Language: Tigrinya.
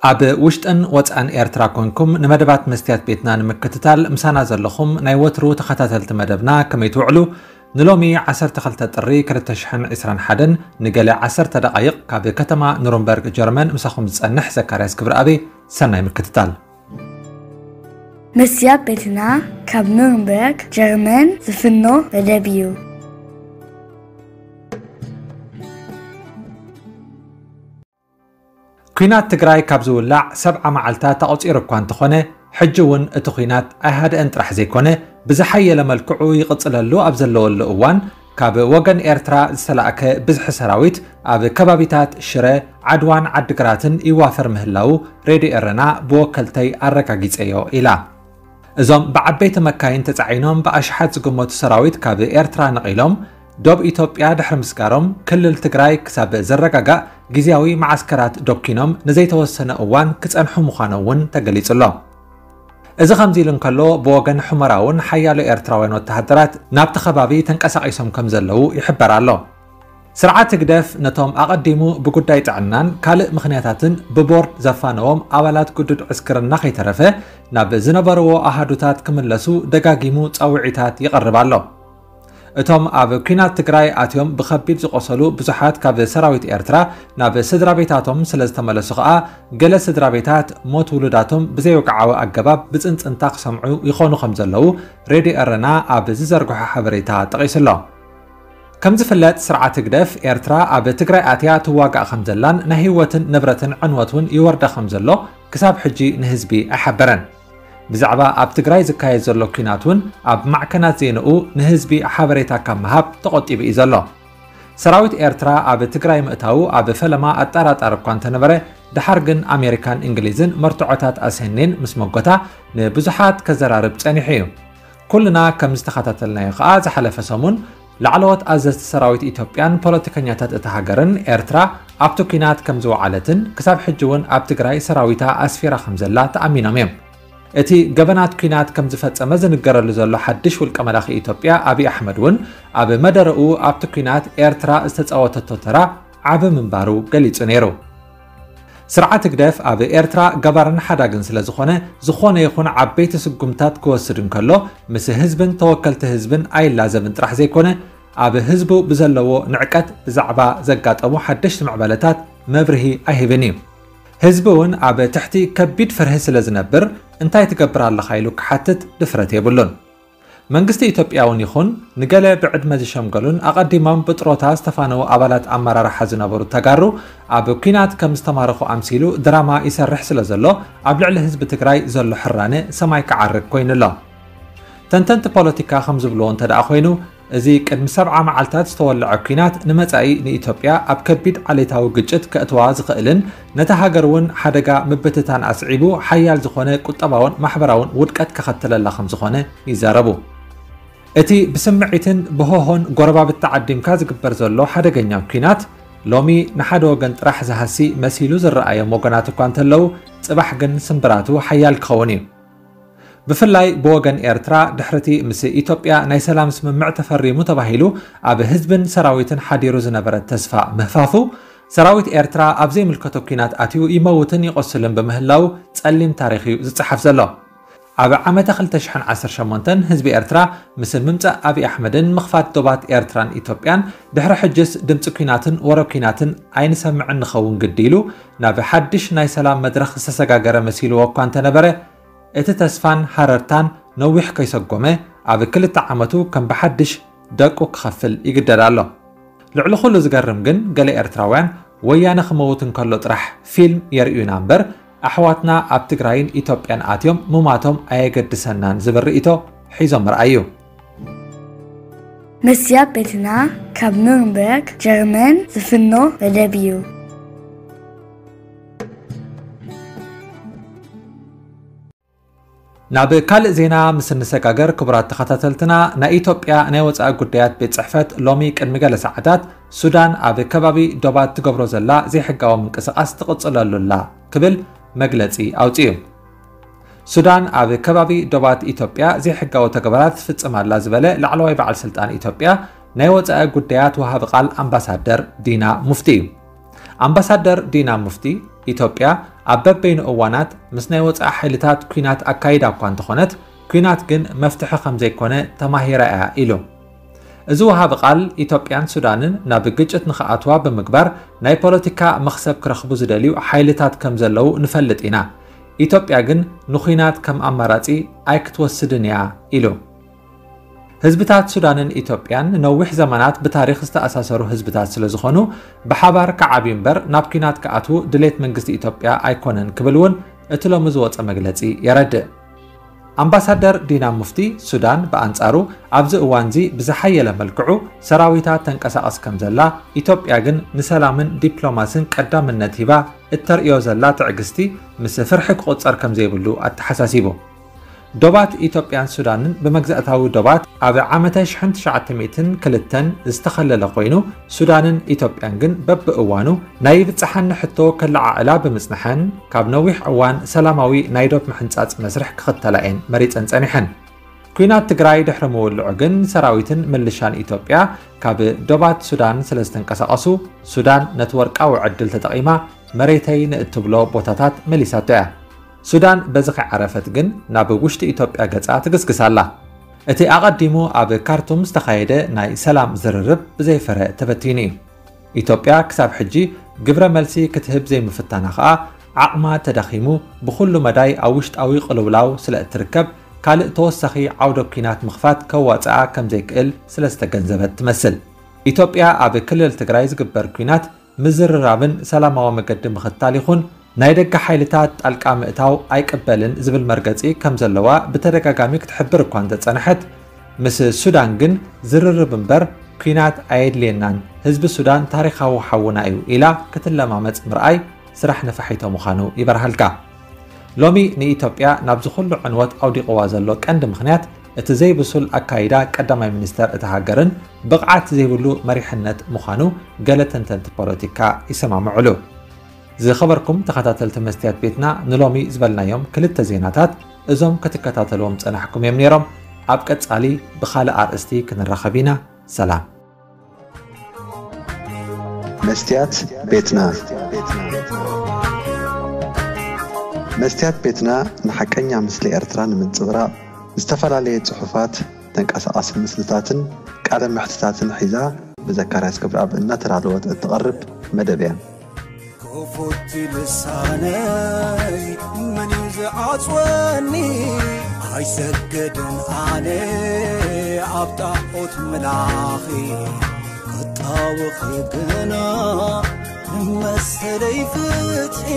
ኣብ ውሽጥን ወጻእን ኤርትራ ኮንኩም ንመደባት መስትያት ቤትና ንምክትታል ምሳና ዘለኹም ናይ ወትሩ ተኸታተልቲ መደብና ከመይ ትውዕሉ? ንሎሚ ዓሰርተ ክልተ ጥሪ ክልተ ሽሕን ዕስራን ሓደን ንገለ ዓሰርተ ደቓይቕ ካብ ከተማ ኑርንበርግ ጀርመን ምሳኹም ዝጸንሕ ዘካርያስ ክብረኣበይ። ሰናይ ምክትታል። መስትያት ቤትና ካብ ኑርንበርግ ጀርመን ዝፍኖ መደብ እዩ። ኲናት ትግራይ ካብ ዝውላዕ ሰብዓ መዓልታት ኣቑጺሩ እኳ እንተኾነ፣ ሕጂ እውን እቲ ኲናት ኣይሃደአን ጥራሕ ዘይኮነ፣ ብዝሓየለ መልክዑ ይቕጽለሉ ኣብ ዘለወሉ እዋን፣ ካብ ወገን ኤርትራ ዝተላእከ ብዝሒ ሰራዊት ኣብ ከባቢታት ሽረ፣ ዓድዋን ዓድግራትን ይዋፈር ምህላዉ ሬድዮ ኤረና ብወከልተይ ኣረጋጊጸዮ ኢላ። እዞም ብዓበይቲ መካይን ተጻዒኖም ብኣሽሓት ዝግመቱ ሰራዊት ካብ ኤርትራ ነቒሎም ዶብ ኢትዮጵያ ድሕሪ ምስጋሮም፣ ክልል ትግራይ ክሳብ ዝረጋጋእ ግዝያዊ መዓስከራት ዶኪኖም ንዘይተወሰነ እዋን ክጸንሑ ምዃኖም እውን ተገሊጹ ኣሎ። እዚ ከምዚ ኢሉ እንከሎ፣ ብወገን ሑመራ እውን ሓያሎ ኤርትራውያን ወተሃደራት ናብቲ ከባቢ ተንቀሳቒሶም ከም ዘለዉ ይሕበር ኣሎ። ስርዓት ህግደፍ ነቶም ኣቐዲሙ ብጉዳይ ጥዕናን ካልእ ምኽንያታትን ብቦርድ ዘፋነዎም ኣባላት ግዱድ ዕስክርና ከይተረፈ ናብ ዝነበርዎ ኣሃዱታት ክምለሱ ደጋጊሙ ጸውዒታት ይቐርብ ኣሎ። እቶም ኣብ ኲናት ትግራይ ኣትዮም ብኸቢድ ዝቖሰሉ ብዙሓት ካብ ሰራዊት ኤርትራ ናብ ስድራ ቤታቶም ስለ ዝተመለሱ ከኣ፣ ገለ ስድራ ቤታት ሞት ውሉዳቶም ብዘይወግዓዊ ኣገባብ ብጽንጽንታ ክሰምዑ ይኾኑ ከም ዘለዉ ሬድዮ ኤረና ኣብ ዝዘርግሖ ሓበሬታ ጠቒሱ ኣሎ። ከም ዝፍለጥ፣ ስርዓት ህግደፍ ኤርትራ ኣብ ትግራይ ኣትያ ትዋጋእ ከም ዘላን ናይ ህይወትን ንብረትን ዕንወት እውን ይወርዳ ከም ዘሎ ክሳብ ሕጂ ንህዝቢ ኣይሓበረን። ብዛዕባ ኣብ ትግራይ ዝካየድ ዘሎ ኲናት እውን ኣብ ማዕከናት ዜንኡ ንህዝቢ ሓበሬታ ካብ ምሃብ ተቖጢቡ እዩ ዘሎ። ሰራዊት ኤርትራ ኣብ ትግራይ ምእታዉ ኣብ ፈለማ ኣጠራጣሪ እኳ እንተነበረ፣ ደሓር ግን ኣሜሪካን እንግሊዝን መርትዖታት ኣስህኔን ምስ መጎታ ንብዙሓት ከዘራርብ ጸኒሑ እዩ። ኩልና ከም ዝተኸታተልናዮ ከኣ፣ ዝሓለፈ ሰሙን ላዕለዎት ኣዘዝቲ ሰራዊት ኢትዮጵያን ፖለቲከኛታት እታ ሃገርን ኤርትራ ኣብቲ ኲናት ከም ዝወዓለትን ክሳብ ሕጂ እውን ኣብ ትግራይ ሰራዊታ ኣስፊራ ከም ዘላ ተኣሚኖም እዮም። እቲ ገበናት ኲናት ከም ዝፈጸመ ዝንገረሉ ዘሎ ሓድሽ ውልቀ መላኺ ኢትዮጵያ ኣብይ ኣሕመድ እውን ኣብ መደረኡ ኣብቲ ኲናት ኤርትራ ዝተጻወተቶ ተራ ዓቢ ምንባሩ ገሊጹ ነይሩ። ስርዓት ህግደፍ ኣብ ኤርትራ ገባርን ሓዳግን ስለ ዝኾነ፣ ዝኾነ ይኹን ዓበይቲ ስጉምታት ክወስድ እንከሎ፣ ምስ ህዝብን ተወከልቲ ህዝብን ኣይላዘብን ጥራሕ ዘይኮነ፣ ኣብ ህዝቡ ብዘለዎ ንዕቀት ብዛዕባ ዘጋጠሙ ሓደሽቲ ምዕባለታት መብርሂ ኣይህብን እዩ። ህዝቢ እውን ኣብ ትሕቲ ከቢድ ፍርሂ ስለ ዝነብር፣ እንታይ ትገብር ኣለኻ ኢሉ ክሓትት ድፍረት የብሉን። መንግስቲ ኢትዮጵያ እውን ይኹን ንገለ ብዕድመ ዝሸምገሉን ኣቐዲሞም ብጥሮታ ዝተፋነዉ ኣባላት ኣመራርሓ ዝነበሩ ተጋሩ ኣብ ኲናት ከም ዝተማረኹ ኣምሲሉ ድራማ ይሰርሕ ስለ ዘሎ፣ ኣብ ልዕሊ ህዝቢ ትግራይ ዘሎ ሕራነ ሰማይ ክዓርግ ኮይኑ ኣሎ። ተንተንቲ ፖለቲካ ከም ዝብልዎ እንተ ደኣ ኮይኑ፣ እዚ ቅድሚ ሰብዓ መዓልታት ዝተወልዐ ኲናት ንመጻኢ ንኢትዮጵያ ኣብ ከቢድ ዓሌታዊ ግጭት ከእትዋ ዝኽእልን ነታ ሃገር እውን ሓደጋ ምብትታን ኣስዒቡ ሓያል ዝኾነ ቁጠባውን ማሕበራውን ውድቀት ከኸትለላ ከም ዝኾነ ይዛረቡ። እቲ ብስምዒትን ብሆሆን ጎረባብቲ ዓዲምካ ዝግበር ዘሎ ሓደገኛ ኲናት ሎሚ ንሓደ ወገን ጥራሕ ዝሃሲ መሲሉ ዝረኣዮም ወገናት እኳ እንተለዉ፣ ጽባሕ ግን ስምብራቱ ሓያል ክኸውን እዩ። ብፍላይ ብወገን ኤርትራ፣ ድሕሪቲ ምስ ኢትዮጵያ ናይ ሰላም ስምምዕ ተፈሪሙ ተባሂሉ ኣብ ህዝብን ሰራዊትን ሓዲሩ ዝነበረ ተስፋ ምህፋፉ፣ ሰራዊት ኤርትራ ኣብ ዘይምልከቶ ኲናት ኣትዩ ይመውትን ይቖስልን ብምህላው ጸሊም ታሪኽ እዩ ዝጸሓፍ ዘሎ። ኣብ ዓመተ ክልተ ሽሕን ዓሰርተ ሸሞንተን ህዝቢ ኤርትራ ምስ ምምጻእ ኣብይ ኣሕመድን ምኽፋት ዶባት ኤርትራን ኢትዮጵያን፣ ድሕሪ ሕጅስ ድምጺ ኲናትን ወረ ኲናትን ኣይንሰምዕን ንኸውን ግዲ ኢሉ ናብ ሓድሽ ናይ ሰላም መድረኽ ዝተሰጋገረ መሲልዎ እኳ እንተነበረ፣ እቲ ተስፋን ሃረርታን ነዊሕ ከይሰጎመ፣ ኣብ ክልተ ዓመቱ ከም ብሓድሽ ደቁ ክኸፍል ይግደድ ኣሎ። ልዕሊ ኩሉ ዝገርም ግን፣ ገለ ኤርትራውያን ወያነ ክመውት እንከሎ ጥራሕ ፊልም የርእዩና እምበር፣ ኣሕዋትና ኣብ ትግራይን ኢትዮጵያን ኣትዮም ምማቶም ኣየገድሰናን ዝብል ርእይቶ ሒዞም ምርኣይ እዩ። መስትያት ቤትና ካብ ኑርንበርግ ጀርመን ዝፍኖ መደብ እዩ። ናብ ካልእ ዜና ምስ እንሰጋገር፣ ክቡራት ተኸታተልትና፣ ናይ ኢትዮጵያ ናይ ወጻኢ ጉዳያት ቤት ጽሕፈት ሎሚ ቅድሚ ገለ ሰዓታት፣ ሱዳን ኣብ ከባቢ ዶባት ትገብሮ ዘላ ዘይሕጋዊ ምንቅስቓስ ትቕጽለሉ ኣላ ክብል መግለጺ ኣውጺኡ። ሱዳን ኣብ ከባቢ ዶባት ኢትዮጵያ ዘይሕጋዊ ተግባራት ትፍጽም ኣላ ዝበለ ላዕለዋይ በዓል ስልጣን ኢትዮጵያ፣ ናይ ወጻኢ ጉዳያት ወሃቢ ቃል ኣምባሳደር ዲና ሙፍቲ እዩ። ኣምባሳደር ዲና ሙፍቲ፣ ኢትዮጵያ ኣብ በበይኑ እዋናት ምስ ናይ ወጻኢ ሓይልታት ኲናት ኣካይዳ እኳ እንተኾነት፣ ኲናት ግን መፍትሒ ከም ዘይኮነ ተማሂራ እያ ኢሉ። እዚ ወሃቢ ቃል፣ ኢትዮጵያን ሱዳንን ናብ ግጭት ንኽኣትዋ ብምግባር ናይ ፖለቲካ መኽሰብ ክረኽቡ ዝደልዩ ሓይልታት ከም ዘለዉ ንፈልጥ ኢና። ኢትዮጵያ ግን ንኹናት ከም ኣማራጺ ኣይክትወስድን እያ ኢሉ። ህዝብታት ሱዳንን ኢትዮጵያን ነዊሕ ዘመናት ብታሪኽ ዝተኣሳሰሩ ህዝብታት ስለ ዝኾኑ፣ ብሓባር ክዓብዩ እምበር ናብ ኲናት ክኣትዉ ድሌት መንግስቲ ኢትዮጵያ ኣይኮነን ክብል እውን እቲ ሎሚ ዝወጸ መግለጺ የረድእ። ኣምባሳደር ዲና ሙፍቲ ሱዳን ብኣንጻሩ ኣብዚ እዋንዚ ብዝሓየለ መልክዑ ሰራዊታ ተንቀሳቐስ ከም ዘላ፣ ኢትዮጵያ ግን ንሰላምን ዲፕሎማስን ቀዳምነት ሂባ እተርእዮ ዘላ ትዕግስቲ ምስ ፍርሒ ክቑጸር ከም ዘይብሉ ኣተሓሳሲቡ። ዶባት ኢትዮጵያን ሱዳንን ብመግዛእታዊ ዶባት ኣብ ዓመተ ሽሕን ትሽዓተ ሚእትን ክልተን ዝተኸለለ ኮይኑ፣ ሱዳንን ኢትዮጵያን ግን በብእዋኑ ናይ ይብጽሓኒ ሕቶ ከለዓዕላ ብምጽንሐን፣ ካብ ነዊሕ እዋን ሰላማዊ ናይ ዶብ ምሕንጻጽ መስርሕ ክኽተላ እየን መሪጸን ጸኒሐን። ኲናት ትግራይ ድሕሪ ምውልዑ ግን ሰራዊትን ምልሻን ኢትዮጵያ ካብ ዶባት ሱዳን ስለ ዝተንቀሳቐሱ፣ ሱዳን ነቲ ወርቃዊ ዕድል ተጠቒማ መሬተይ ንእትብሎ ቦታታት መሊሳቶ እያ። ሱዳን በዚ ከይዓረፈት ግን ናብ ውሽጢ ኢትዮጵያ ገጻ ትግስግስ ኣላ። እቲ ኣቐዲሙ ኣብ ካርቱም ዝተኻየደ ናይ ሰላም ዝርርብ ብዘይፍረ ተበቲኑ እዩ። ኢትዮጵያ ክሳብ ሕጂ ግብረ መልሲ ክትህብ ዘይምፍታና ከኣ፣ ዓቕማ ተዳኺሙ ብኹሉ መዳይ ኣብ ውሽጣዊ ቅልውላው ስለ እትርከብ፣ ካልእ ተወሳኺ ዓውደ ኲናት ምኽፋት ከዋጽኣ ከም ዘይክእል ስለ ዝተገንዘበት ትመስል። ኢትዮጵያ ኣብ ክልል ትግራይ ዝግበር ኲናት ምዝርራብን ሰላማዊ መገዲ ምኽታል ይኹን ናይ ደገ ሓይልታት ጣልቃ ምእታው ኣይቅበልን ዝብል መርገጺ ከም ዘለዋ ብተደጋጋሚ ክትሕብር እኳ እንተጸንሐት፣ ምስ ሱዳን ግን ዝርርብ እምበር ኲናት ኣየድልየናን፣ ህዝቢ ሱዳን ታሪኻዊ ሓውና እዩ ኢላ ክትለማመጽ ምርኣይ ስራሕ ነፋሒቶ ምዃኑ ይበርሃልካ። ሎሚ ንኢትዮጵያ ናብዚ ኩሉ ዕንወት ኣውዲቕዋ ዘሎ ቀንዲ ምኽንያት እቲ ዘይብሱል ኣካይዳ ቀዳማይ ሚኒስተር እታ ሃገርን ብቕዓት ዘይብሉ መሪሕነት ምዃኑ ገለ ተንተንቲ ፖለቲካ ይሰማምዑሉ። ዝኸበርኩም ተኸታተልቲ መስትያት ቤትና፣ ንሎሚ ዝበልናዮም ክልተ ዜናታት እዞም ክትከታተልዎም ጸናሕኩም እዮም ነይሮም። ኣብ ቀጻሊ ብኻልእ ኣርእስቲ ክንራኸብ ኢና። ሰላም። መስትያት ቤትና። መስትያት ቤትና ንሓቀኛ ምስሊ ኤርትራ ንምንጽብራቕ ዝተፈላለየ ጽሑፋት፣ ተንቀሳቓሲ ምስልታትን ቃለ መሕትታትን ሒዛ ብዘካርያስ ክብረኣብ እናተዳለወት እትቐርብ መደብ እያ። ክፉት ልሳነይ መን እዩ ዝዓጽወኒ? ኣይሰግድን ኣነ ኣብ ጣዖት ምላኺ ክጣወኺ ግና ንመሰለይ ፍትሒ